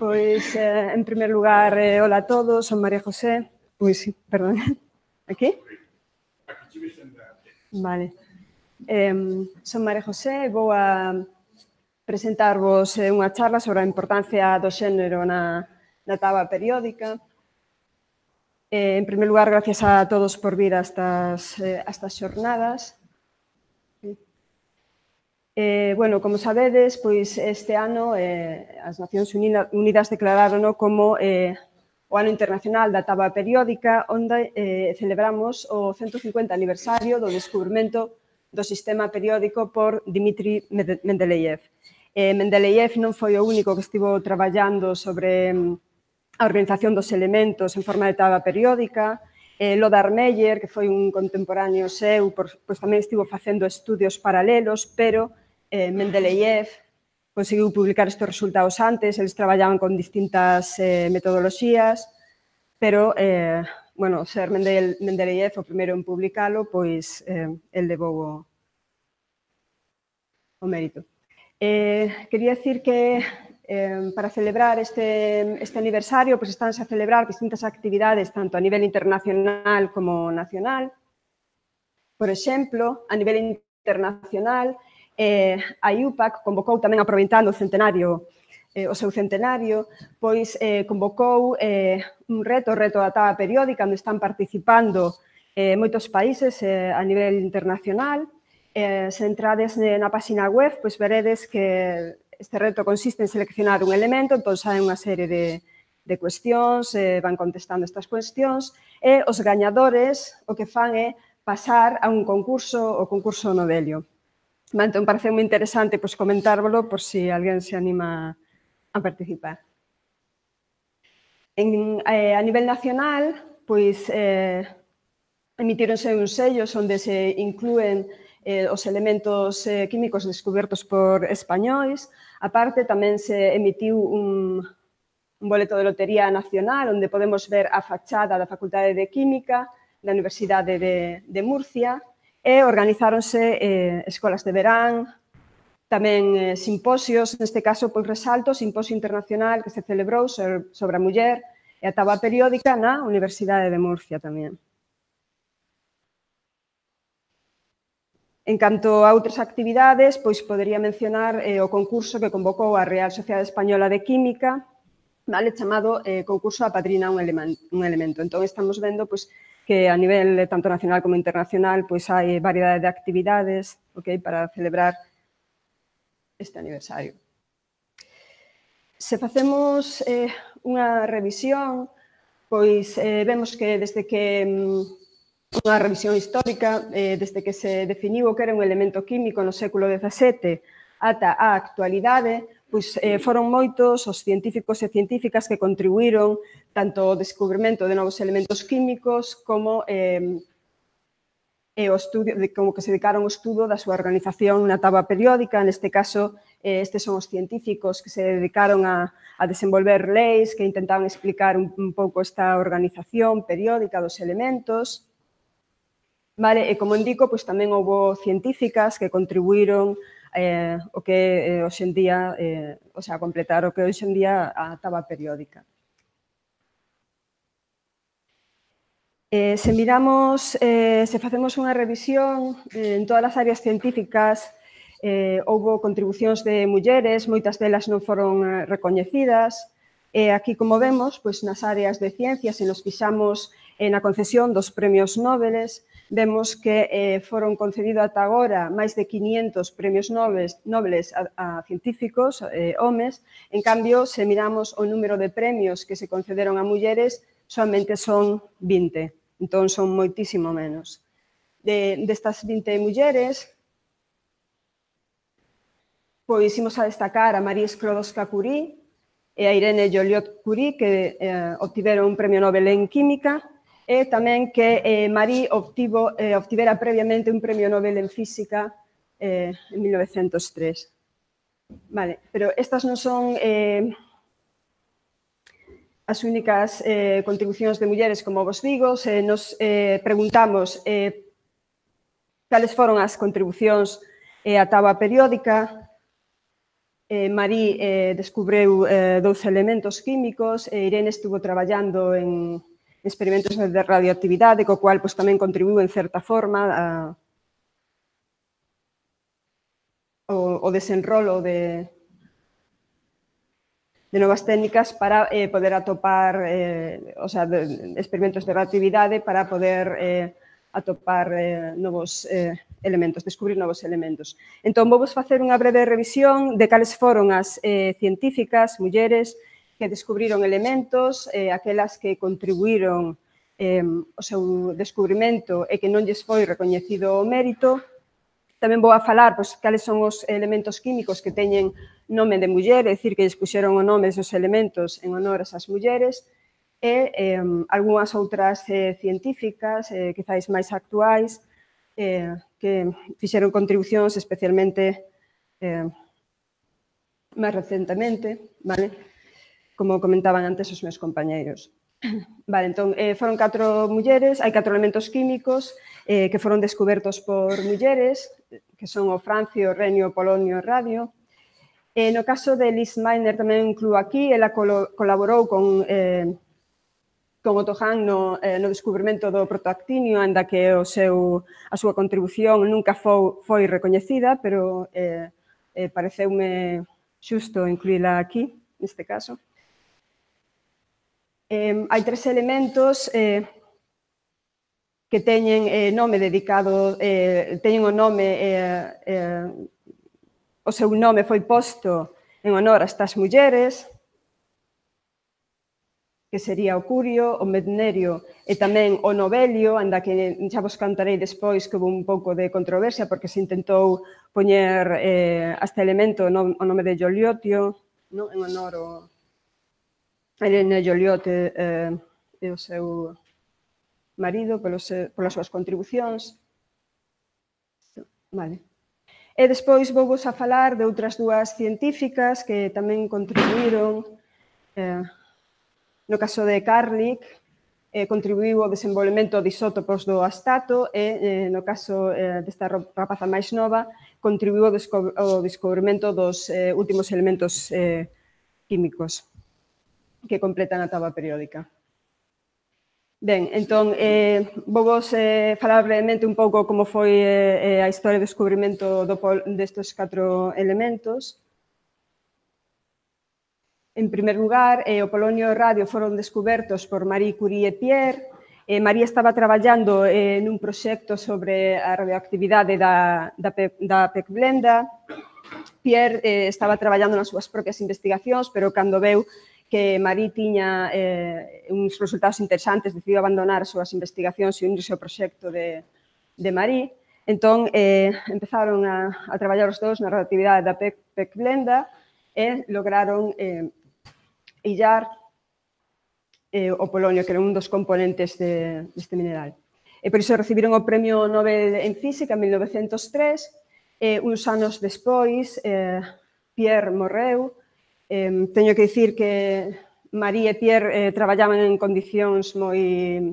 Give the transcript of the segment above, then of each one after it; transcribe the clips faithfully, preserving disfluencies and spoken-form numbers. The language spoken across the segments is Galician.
Pois, eh, en primer lugar, eh, hola a todos, son María José. Ui, sí, perdón. Aquí? Vale. Eh, son María José e vou a presentarvos eh, unha charla sobre a importancia do xénero na, na táboa periódica. Eh, en primer lugar, gracias a todos por vir a estas, eh, a estas xornadas. Eh, bueno, como sabedes, pois este ano eh, as Nacións Unidas declararon como eh, o Ano Internacional da Táboa Periódica, onde eh, celebramos o ciento cincuenta aniversario do descubrimento do sistema periódico por Dmitri Mendeleev. Eh, Mendeleev non foi o único que estivo traballando sobre a organización dos elementos en forma de táboa periódica. Eh, Lothar Meyer, que foi un contemporáneo seu, por, pois tamén estivo facendo estudios paralelos, pero eh, Mendeleev conseguiu publicar estes resultados antes, eles traballaban con distintas eh, metodoloxías, pero, eh, bueno, ser Mendel, Mendeleev o primeiro en publicalo, pois eh, el levou o, o mérito. Eh, quería decir que eh, para celebrar este, este aniversario, pois estánse a celebrar distintas actividades, tanto a nivel internacional como nacional. Por exemplo, a nivel internacional, eh, a I U P A C convocou tamén aproveitando o centenario, eh, o seu centenario, pois eh, convocou eh, un reto, o reto da táboa periódica, onde están participando eh, moitos países eh, a nivel internacional. Eh, se entrades na página web, pois veredes que este reto consiste en seleccionar un elemento, entón saen unha serie de, de cuestións, eh, van contestando estas cuestións, e os gañadores o que fan é pasar a un concurso, o concurso Novelio. Entón, parece moi interesante pois, comentárvolo por si alguén se anima a participar. En, eh, a nivel nacional, pois, eh, emitíronse uns sellos onde se inclúen eh, os elementos eh, químicos descobertos por españois. A parte, tamén se emitiu un, un boleto de lotería nacional onde podemos ver a fachada da Facultade de Química da Universidade de, de Murcia, e organizáronse eh, escolas de verán, tamén eh, simposios, neste caso, pois resalto, o simposio internacional que se celebrou sobre, sobre a muller e a táboa periódica na Universidade de Murcia tamén. En canto a outras actividades, pois podería mencionar eh, o concurso que convocou a Real Sociedade Española de Química, vale, chamado eh, concurso a padrina un, elemen, un elemento. Entón, estamos vendo pois, que a nivel tanto nacional como internacional pois hai variedade de actividades, okay, para celebrar este aniversario. Se facemos eh, unha revisión, pois eh, vemos que desde que unha revisión histórica, eh, desde que se definiu o que era un elemento químico no século dezasete ata a actualidade, pois eh, foron moitos os científicos e científicas que contribuíron tanto ao descubrimento de novos elementos químicos como eh, e o estudio, de, como que se dedicaron ao estudo da súa organización na táboa periódica. Neste caso, eh, estes son os científicos que se dedicaron a, a desenvolver leis que intentaban explicar un, un pouco esta organización periódica dos elementos. Vale, e como indico, pois tamén houve científicas que contribuíron eh, o que eh, hoxe en día, eh, o sea, completar o que hoxe en día a táboa periódica. Eh, se miramos, eh, se facemos unha revisión eh, en todas as áreas científicas, eh, houve contribucións de mulleres, moitas delas non foron eh, recoñecidas, e aquí, como vemos, pois, nas áreas de ciencias, se nos fixamos eh, na concesión dos premios Nobel, vemos que eh, foron concedidos ata agora máis de quinientos premios Nobel a, a científicos, eh, homes. En cambio, se miramos o número de premios que se concederon a mulleres, solamente son vinte. Entón, son moitísimo menos. De, destas vinte mulleres, pois imos a destacar a Marie Sklodowska-Curie e a Irene Joliot-Curie, que eh, obtiveron un premio Nobel en Química, e tamén que eh, Marie obtivo, eh, obtivera previamente un premio Nobel en Física eh, en mil novecentos tres. Vale, pero estas non son eh, as únicas eh, contribucións de mulleres, como vos digo. Se nos eh, preguntamos eh, cales foron as contribucións eh, á táboa periódica, Eh, Marie eh, descubreu eh, dous elementos químicos e Irene estuvo traballando en experimentos de radioactividade, co cual pues, tamén contribuiu en certa forma a, o, o desenrolo de, de novas técnicas para eh, poder atopar eh, o sea, de, experimentos de radioactividade para poder eh, atopar eh, novos eh, elementos, descubrir novos elementos. Entón, vou vos facer unha breve revisión de cales foron as eh, científicas, mulleres, que descubriron elementos, eh, aquelas que contribuíron eh, o seu descubrimento e que non lles foi recoñecido o mérito. Tamén vou a falar pois, cales son os elementos químicos que teñen nome de muller, é dicir, que lles puxeron o nome dos elementos en honor a esas mulleres, e eh, algunhas outras eh, científicas, eh, quizáis máis actuais, eh, que fixeron contribucións especialmente eh, máis recentemente, vale? Como comentaban antes os meus compañeiros. Vale, entón, eh, foron catro mulleres, hai catro elementos químicos eh, que foron descubertos por mulleres, que son o francio, o renio, o polonio e o radio. E no caso de Liz Meitner tamén incluo aquí, ela colo colaborou con... Eh, con Otto Hahn no, eh, no descubrimento do protoactinio, ainda que o seu, a súa contribución nunca foi, foi recoñecida, pero eh, eh, pareceume xusto incluíla aquí, neste caso. Eh, hai tres elementos eh, que teñen eh, nome dedicado, eh, teñen o nome, eh, eh, o seu nome foi posto en honor a estas mulleres, que sería o curio, o mednerio e tamén o novelio, anda que xa vos contarei despois que houve un pouco de controversia porque se intentou poñer eh, a este elemento no, o nome de Joliotio, no? En honor ao Irene Joliot eh, e o seu marido pelos, polas súas contribucións. Vale. E despois vou vos a falar de outras dúas científicas que tamén contribuíron. Eh, No caso de Karlik, eh, contribuiu ao desenvolvemento de isótopos do astato e, eh, no caso eh, desta rapaza máis nova, contribuiu ao, desco ao descubrimento dos eh, últimos elementos eh, químicos que completan a táboa periódica. Ben, entón, eh, vou vos eh, falar brevemente un pouco como foi eh, a historia do descubrimento do, destes catro elementos. En primer lugar, eh, o polonio e o radio foron descubertos por Marie Curie e Pierre. Eh, Marie estaba traballando eh, nun proxecto sobre a radioactividade da, da, da pecblenda. Pierre eh, estaba traballando nas súas propias investigacións, pero cando veu que Marie tiña eh, uns resultados interesantes, decidiu abandonar as súas investigacións e unirse ao proxecto de, de Marie. Entón, eh, empezaron a, a traballar os dous na radioactividade da pecblenda e lograron eh, illar eh, o polonio, que era un dos componentes de, deste mineral. E por iso recibiron o Premio Nobel en Física en mil novecentos tres, e uns anos despois eh, Pierre morreu. Eh, teño que dicir que Marie e Pierre eh, traballaban en condicións moi,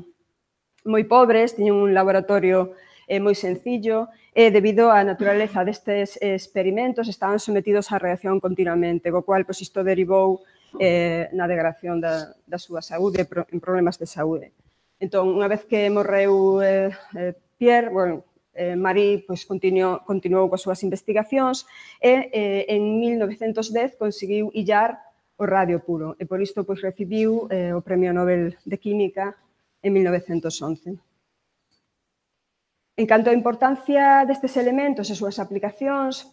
moi pobres, tiñan un laboratorio eh, moi sencillo, e debido á naturaleza destes experimentos estaban sometidos á reacción continuamente, co cual pois, isto derivou eh, na degradación da, da súa saúde, en problemas de saúde. Entón, unha vez que morreu eh, eh, Pierre, bueno, eh, Marie pois, continuou, continuou coas súas investigacións e eh, en mil novecentos dez conseguiu illar o radio puro e por isto pois, recibiu eh, o Premio Nobel de Química en mil novecentos once. En canto á importancia destes elementos e súas aplicacións,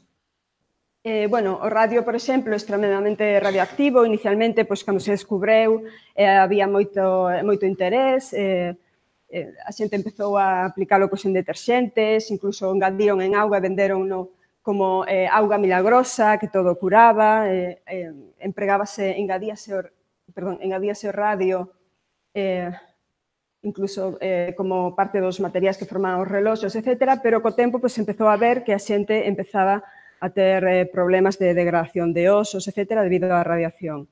Eh, bueno, o radio, por exemplo, é extremadamente radioactivo. Inicialmente, pois, cando se descubreu, eh, había moito, moito interés, eh, eh, a xente empezou a aplicalo pois, en deterxentes, incluso engadiron en auga e venderonno como eh, auga milagrosa, que todo curaba, eh, eh, empregábase, engadíase o, perdón, engadíase o radio, eh, incluso eh, como parte dos materiais que formaban os reloxos, etcétera, pero co tempo pois, empezou a ver que a xente empezaba a ter eh, problemas de degradación de osos, etcétera, debido á radiación.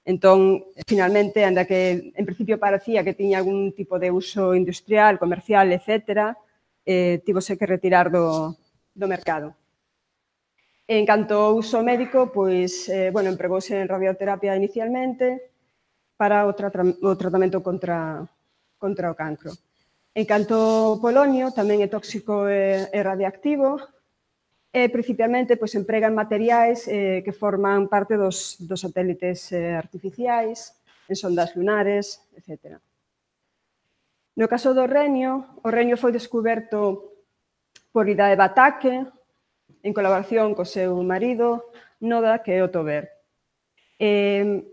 Entón, finalmente, anda que en principio parecía que tiña algún tipo de uso industrial, comercial, etcétera, eh, tivose que retirar do, do mercado. En canto ao uso médico, pois, eh, bueno, empregouse en radioterapia inicialmente para o, tra o tratamento contra, contra o cancro. En canto ao polonio, tamén é tóxico e, e radiactivo, e principalmente pois, emprega en materiais eh, que forman parte dos, dos satélites eh, artificiais, en sondas lunares, etcétera. No caso do renio, o renio foi descuberto por Ida Batake, en colaboración co seu marido, Noda, que é Otto Baer. Eh,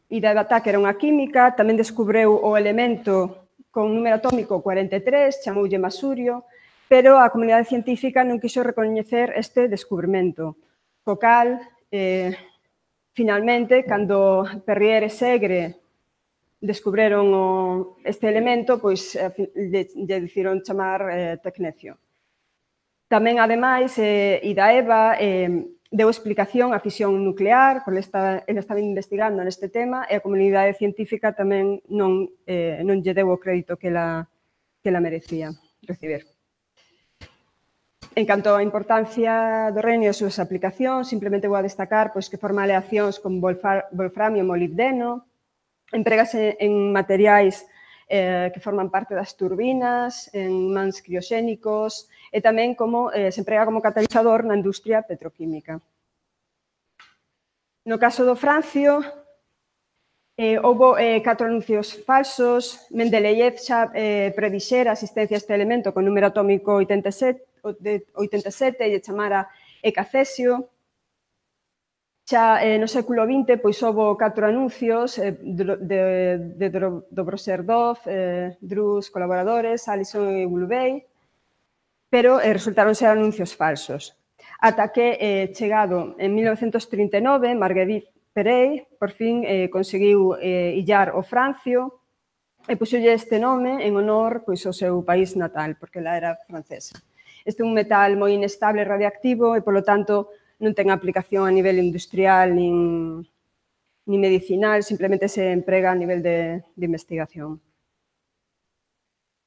Ida Batake era unha química, tamén descubreu o elemento con número atómico cuarenta e tres, chamoulle masurio, pero a comunidade científica non quiso recoñecer este descubrimento. Co cal, eh, finalmente, cando Perrier e Segre descubreron o, este elemento, pois lle, lle decidiron chamar eh, tecnecio. Tamén, ademais, eh, Ida Eva eh, deu explicación á fisión nuclear, porque estaba, ele estaba investigando neste tema, e a comunidade científica tamén non, eh, non lle deu o crédito que ela, que ela merecía recibir. En canto á importancia do renio e as súas aplicacións, simplemente vou a destacar pois, que forma aleacións con wolframio e molibdeno, emprégase en materiais eh, que forman parte das turbinas, en mans crioxénicos, e tamén como, eh, se emprega como catalizador na industria petroquímica. No caso do francio, eh, houve eh, catro anuncios falsos. Mendeleev xa eh, predixera a existencia deste elemento con número atómico oitenta e sete e lle chamara ecacesio. Xa eh, no século vinte pois, houve catro anuncios eh, de, de, de Dobroserdov, eh, Drus, colaboradores, Allison e Ulubey, pero eh, resultaron ser anuncios falsos. Ata que, eh, chegado en mil novecentos trinta e nove, Marguerite Perey, por fin, eh, conseguiu eh, illar o francio e puxolle este nome en honor pois, ao seu país natal, porque ela era francesa. Este é un metal moi inestable e radiactivo e, polo tanto, non ten aplicación a nivel industrial nin, nin medicinal, simplemente se emprega a nivel de, de investigación.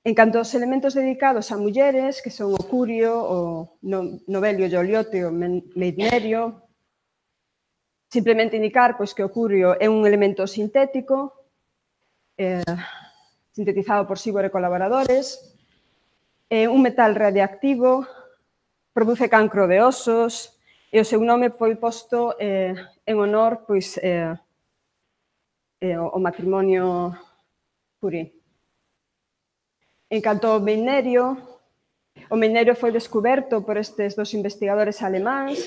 En canto aos elementos dedicados a mulleres, que son o curio, o novelio e o oliote, o meitnerio, simplemente indicar pois, que o curio é un elemento sintético, eh, sintetizado por Sibor e colaboradores, é un metal radiactivo, produce cancro de osos, e o seu nome foi posto eh, en honor pois, eh, eh, ao matrimonio Curie. En canto ao meinerio, o meinerio foi descoberto por estes dos investigadores alemáns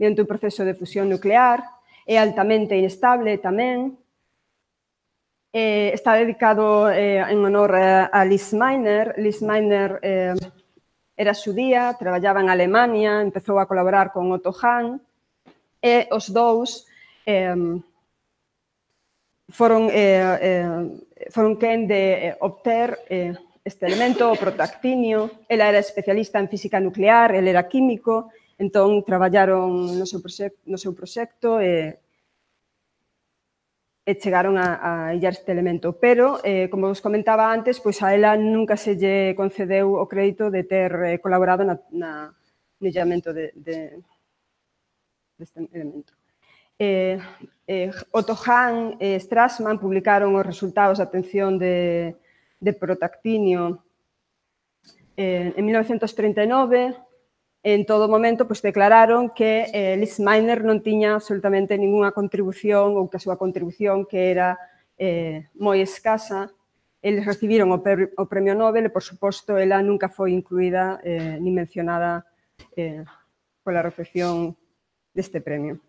mediante un proceso de fusión nuclear, é altamente inestable tamén, eh, está dedicado eh, en honor a, a Liz Meitner. Liz Meitner eh, era xudía, traballaba en Alemania, empezou a colaborar con Otto Hahn, e os dous eh, foron, eh, eh, foron quen de obter eh, este elemento, o protactinio. Ela era especialista en física nuclear, ele era químico, entón traballaron no seu proxecto, no seu proxecto e, e chegaron a, a illar este elemento. Pero, eh, como vos comentaba antes, pois a ela nunca se lle concedeu o crédito de ter eh, colaborado na, na, no illamento de, de, deste elemento. Eh, eh, Otto Hahn e Strassmann publicaron os resultados da atención de, de protactinio eh, en mil novecentos trinta e nove. En todo momento pois, declararon que eh, Liz Meitner non tiña absolutamente ninguna contribución ou que a súa contribución que era eh, moi escasa. Eles recibiron o, o premio Nobel e, por suposto, ela nunca foi incluída eh, ni mencionada eh, pola recepción deste premio.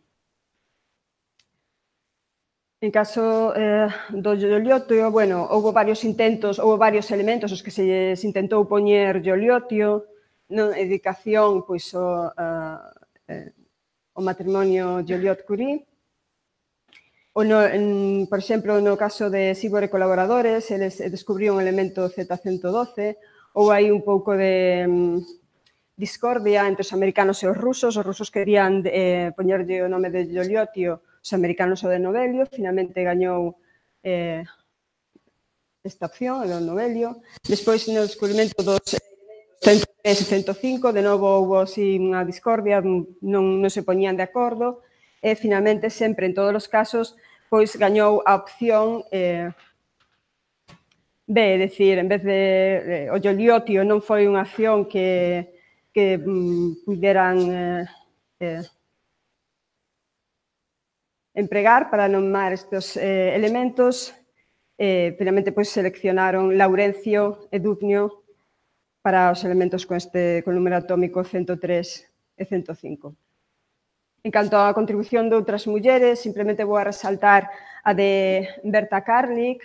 En caso eh, do ioliotio, bueno, houve varios intentos, houve varios elementos os que se, se intentou poñer ioliotio, non dedicación pois, o, a, eh, o matrimonio Joliot-Curie. O no, en, por exemplo, no caso de Sibor e colaboradores, eles descubriron o elemento zeta ciento doce, ou hai un pouco de um, discordia entre os americanos e os rusos. Os rusos querían eh, poñerlle o nome de Joliotio, os americanos o de novelio. Finalmente gañou eh, esta opción, o de novelio. Despois, no descubrimento dos elementos cento e tres e cento e cinco, de novo houve así unha discordia, non, non se poñían de acordo, e finalmente sempre en todos os casos pois gañou a opción eh, B, é dicir, en vez de eh, o Gioliotio non foi unha acción que, que mm, puderan eh, eh, empregar para nomar estes eh, elementos, eh, finalmente pois seleccionaron Laurencio e Dubnio para os elementos con este con número atómico cento e tres e cento e cinco. En canto á contribución de outras mulleres, simplemente vou a resaltar a de Berta Karlik.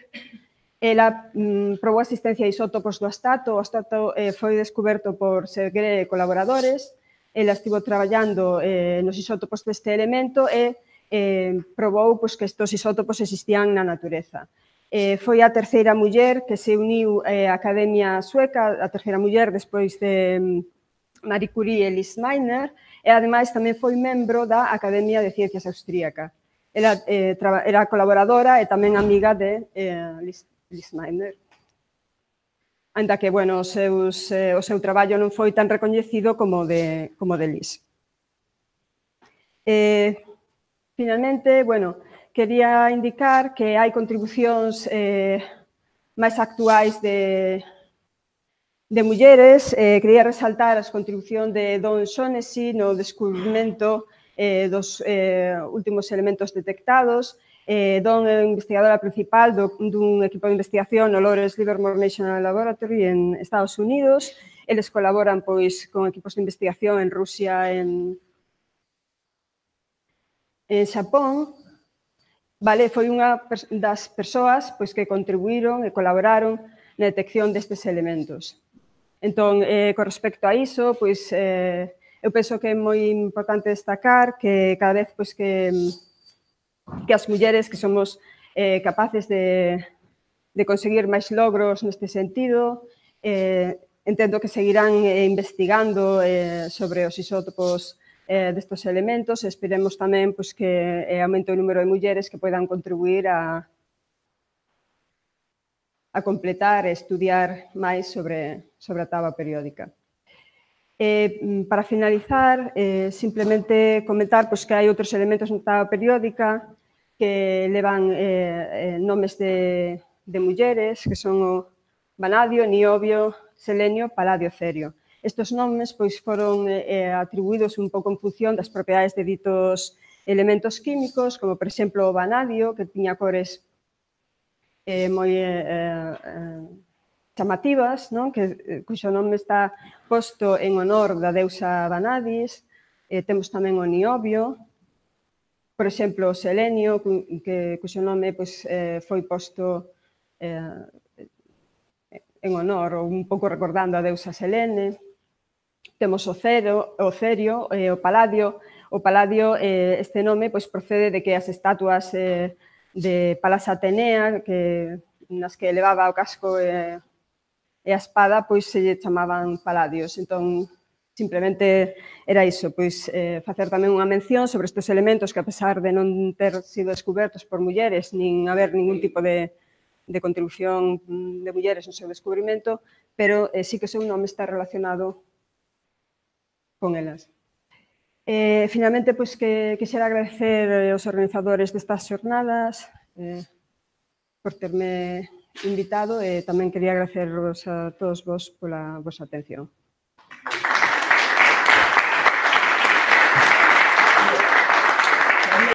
Ela mm, probou a existencia de isótopos do astato. O astato eh, foi descoberto por Segre e colaboradores. Ela estivo traballando eh, nos isótopos deste elemento e eh, probou pois, que estes isótopos existían na natureza. Eh, foi a terceira muller que se uniu eh, á Academia Sueca, a terceira muller despois de Marie Curie e Lise Meitner, e ademais tamén foi membro da Academia de Ciencias Austríaca. Ela eh, era colaboradora e tamén amiga de eh, Lise, Lise Meitner. Ainda que, bueno, os seus, eh, o seu traballo non foi tan recoñecido como de, como de Lise. Eh, finalmente, bueno, quería indicar que hai contribucións eh, máis actuais de, de mulleres. Eh, quería resaltar a contribución de Dawn Shaughnessy no descubrimento eh, dos eh, últimos elementos detectados. Eh, Dawn é a investigadora principal do, dun equipo de investigación no Lawrence Livermore National Laboratory en Estados Unidos. Eles colaboran pois, con equipos de investigación en Rusia, en, en Xapón. Vale, foi unha das persoas pois, que contribuíron e colaboraron na detección destes elementos. Entón, eh, con respecto a iso, pois, eh, eu penso que é moi importante destacar que cada vez pois, que, que as mulleres que somos eh, capaces de, de conseguir máis logros neste sentido, eh, entendo que seguirán eh, investigando eh, sobre os isótopos eh, destes elementos e esperemos tamén pois, que eh, aumente o número de mulleres que poidan contribuir a, a completar e estudiar máis sobre, sobre a táboa periódica. Eh, para finalizar, eh, simplemente comentar pois, que hai outros elementos na táboa periódica que levan eh, nomes de, de mulleres, que son o vanadio, niobio, selenio, paladio, cerio. Estes nomes pois, foron eh, atribuídos un pouco en función das propiedades de ditos elementos químicos, como, por exemplo, o vanadio, que tiña cores eh, moi eh, eh, chamativas, non? Que, cuxo nome está posto en honor da deusa Vanadis. Eh, temos tamén o niobio, por exemplo, o selenio, que, cuxo nome pois, eh, foi posto eh, en honor, ou un pouco recordando a deusa Selene. Temos o cero, o cerio e o paladio. O paladio, eh, este nome, pois, procede de que as estatuas eh, de Palas Atenea, que, nas que levaba o casco e, e a espada, pois se lle chamaban paladios. Entón, simplemente era iso, pois eh, facer tamén unha mención sobre estes elementos que, a pesar de non ter sido descubertos por mulleres, nin haber ningún tipo de, de contribución de mulleres no seu descubrimento, pero eh, sí que o seu nome está relacionado con elas. Eh, finalmente, pois, que quixera agradecer aos organizadores destas xornadas eh, por terme invitado e tamén quería agradecervos a todos vos pola vosa atención.